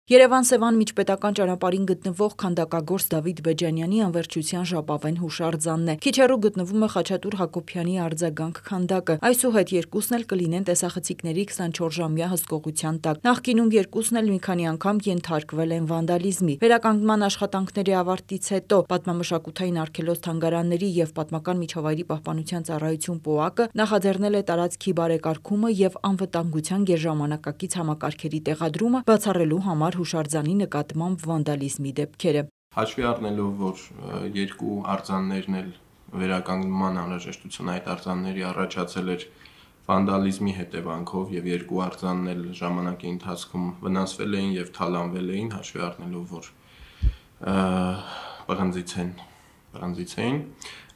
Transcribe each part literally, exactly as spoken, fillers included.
Երևան-Սևան միջպետական ճանապարհին գտնվող քանդակագործ Դավիթ Բեջանյանի անվերջության ժապավեն հուշարձանն է։ Քիչ հեռու գտնվում է Խաչատուր Հակոբյանի արձագանք քանդակը։ Այսուհետ երկուսն էլ կլինեն տեսախցիկների քսանչորսժամյա հսկողության տակ։ Նախկինում երկուսն էլ մի քանի անգամ ենթարկվել են վանդալիզմի։ Վերականգնման աշխատանքների ավարտից հետո Պատմամշակութային արգելոց թանգարանների և Պատմական միջավայրի պահպանության ծառայություն ՊՕԱԿ-ը նախաձեռնել է տարածքի բարեկարգումը և անվտանգության գերժամանակակից համակարգերի տեղադրումը, բացառելու համար հուշարձանի նկատմամբ վանդալիզմի դեպքերը։ Հաշվի առնելով, որ երկու արձաններն էլ վերականգնման անհրաժեշտություն այդ արձանների առաջացել էր վանդալիզմի հետևանքով եւ երկու արձանն էլ ժամանակի ընթացքում վնասվել էին եւ թալանվել էին, հաշվի առնելով, որ պղնձից են, պղնձից էին,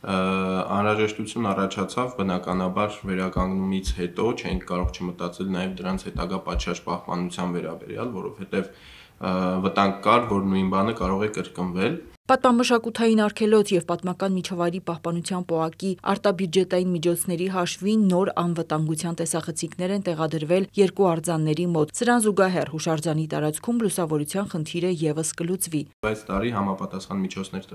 անհրաժեշտություն առաջացավ, բնականաբար վերականգնումից հետո չենք կարող չմտածել նաեւ դրանց հետագա պատշաճ պահպանության վերաբերյալ, որովհետեւ վտանգ կար, որ նույն բանը կարող է կրկնվել։ Պատմամշակութային արգելոց և Պատմական միջավայրի պահպանության ՊՕԱԿ-ի արտաբյուջետային միջոցների հաշվին նոր անվտանգության տեսախցիկներ են տեղադրվել երկու արձանների մոտ։ Սրան զուգահեռ հուշարձանի տարածքում լուսավորության խնդիրը ևս կլուծվի։ Այս տարի համապատասխան միջոցներ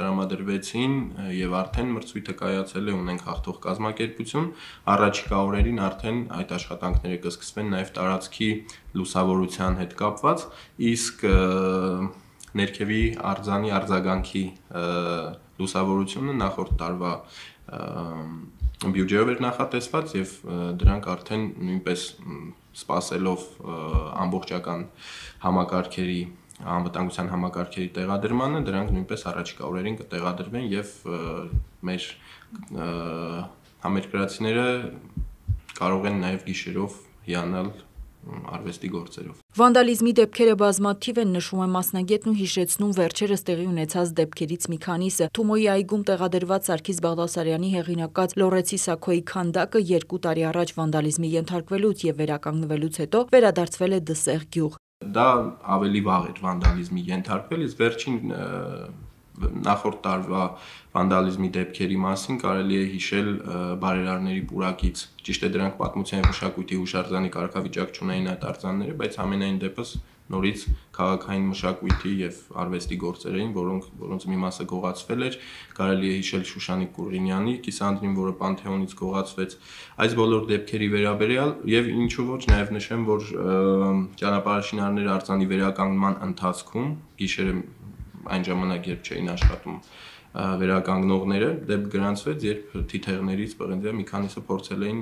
տրամադրվեցին եւ արդեն մրցույթը կայացել է, ունենք հաղթող կազմակերպություն, առաջիկա օրերին արդեն այդ աշխատանքները կսկսվեն նաեւ տարածքի լուսավորության հետ կապված, իսկ ներքևի արձանի արձագանքի լուսավորությունը նախորդ տարվա բյուջեով էր նախատեսված եւ դրանք արդեն նույնպես սպասելով ամբողջական համակարգերի անվտանգության համակարգերի տեղադրմանը, դրանք նույնպես առաջիկա օրերին կտեղադրվեն եւ մեր համերկրացիները կարող են նաեւ գիշերով հիանալ արվեստի գործերով։ Վանդալիզմի դեպքերը բազմաթիվ են, նշում է մասնագետն ու հիշեցնում վերջերս տեղի ունեցած դեպքերից մի քանիսը։ Թումոյի այգում տեղադրված Սարգիս Բաղդասարյանի հեղինակած Լոռեցի Սաքոյի քանդակը երկու տարի առաջ վանդալիզմի ենթարկվելուց եւ վերականգնվելուց հետո վերադարձվել է Դսեղ գյուղ։ Դա ավելի վաղ էր վանդալիզմի ենթարկվել, իսկ վերջին նախորդ տարվա վանդալիզմի դեպքերի մասին կարելի է հիշել բարերարների պուրակից։ Ճիշտ է, դրանք պատմության և մշակույթի հուշարձանի կարգավիճակ չունեին այդ արձանները, բայց ամենայն դեպս նորից քաղաքային մշակույթի եւ արվեստի գործեր էին, որոնք որոնց մի մասը գողացվել էր, կարելի է հիշել Շուշանիկ Կուրգինյանի կիսանդրին, որը Պանթեոնից գողացվեց։ Այս բոլոր դեպքերի վերաբերյալ եւ ինչու ոչ նաեւ նշեմ, որ ճանապարհաշինարները արձանի վերականգնման ընթացքում գիշերը այն ժամանակ, երբ չէին աշխատում վերականգնողները, դեպք գրանցվեց, երբ թիթեղներից պղնձի մի քանիսը փորձել էին,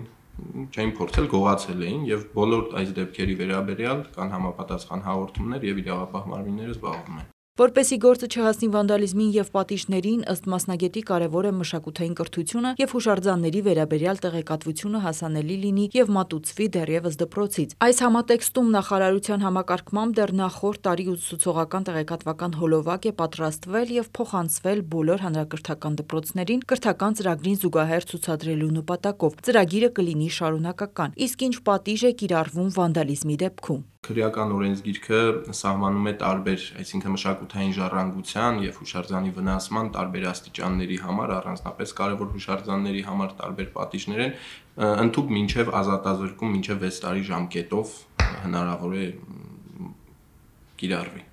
չէին փորձել, գողացել էին եւ բոլոր այս դեպքերի վերաբերյալ կան համապատասխան հաղորդումներ եւ իրավապահ մարմինները զբաղվում են։ Որպեսզի գործը չհասնի վանդալիզմին եւ պատիժներին, ըստ մասնագետի կարևոր է մշակութային կրթությունը եւ հուշարձանների վերաբերյալ տեղեկատվությունը հասանելի լինի եւ մատուցվի դեռևս դպրոցից։ Այս համատեքստում նախարարության համակարգմամբ դեռ նախորդ տարի ուսուցողական տեղեկատվական հոլովակ է պատրաստվել եւ փոխանցվել բոլոր հանրակրթական դպրոցներին կրթական ծրագրին զուգահեռ ցուցադրելու նպատակով։ Ծրագիրը կլինի շարունակական։ Իսկ ինչ պատիժ է կիրառվում վանդալիզմի դեպքում։ Քրեական օրենսգիրքը սահմանում է տարբեր, այսինքն մշակութային ժառանգության եւ հուշարձանի վնասման տարբեր աստիճանների համար, առանձնապես կարևոր հուշարձանների համար տարբեր պատիժներ են, ընդհանուր մինչեւ ազատազրկում մինչեւ վեց տարի ժամկետով հնարավոր է կիրառվի։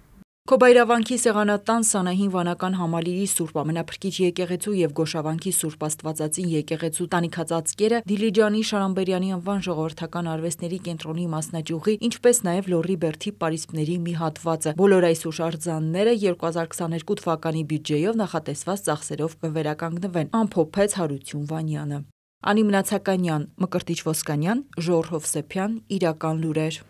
Քոբայրավանքի Սեղանատան Սանահին վանական համալիրի Սուրբ Ամենափրկիչ եկեղեցու եւ Գոշավանքի Սուրբ Աստվածածին եկեղեցու տանիքածածկերը, Դիլիջանի Շարամբերյանի անվան ժողովրդական արվեստների կենտրոնի մասնաճյուղի, ինչպես նաեւ Լոռի Բերդի պարիսպների մի հատվածը։ Բոլոր այս հուշարձանները երկու հազար քսաներկու թվականի բյուջեով նախատեսված ծախսերով կվերականգնվեն, ամփոփեց Հարություն Վանյանը։ Անի Մնացականյան, Մկրտիչ Ոսկանյան, Ժողովուրդ Հովսեփյան, Իրական լուրեր։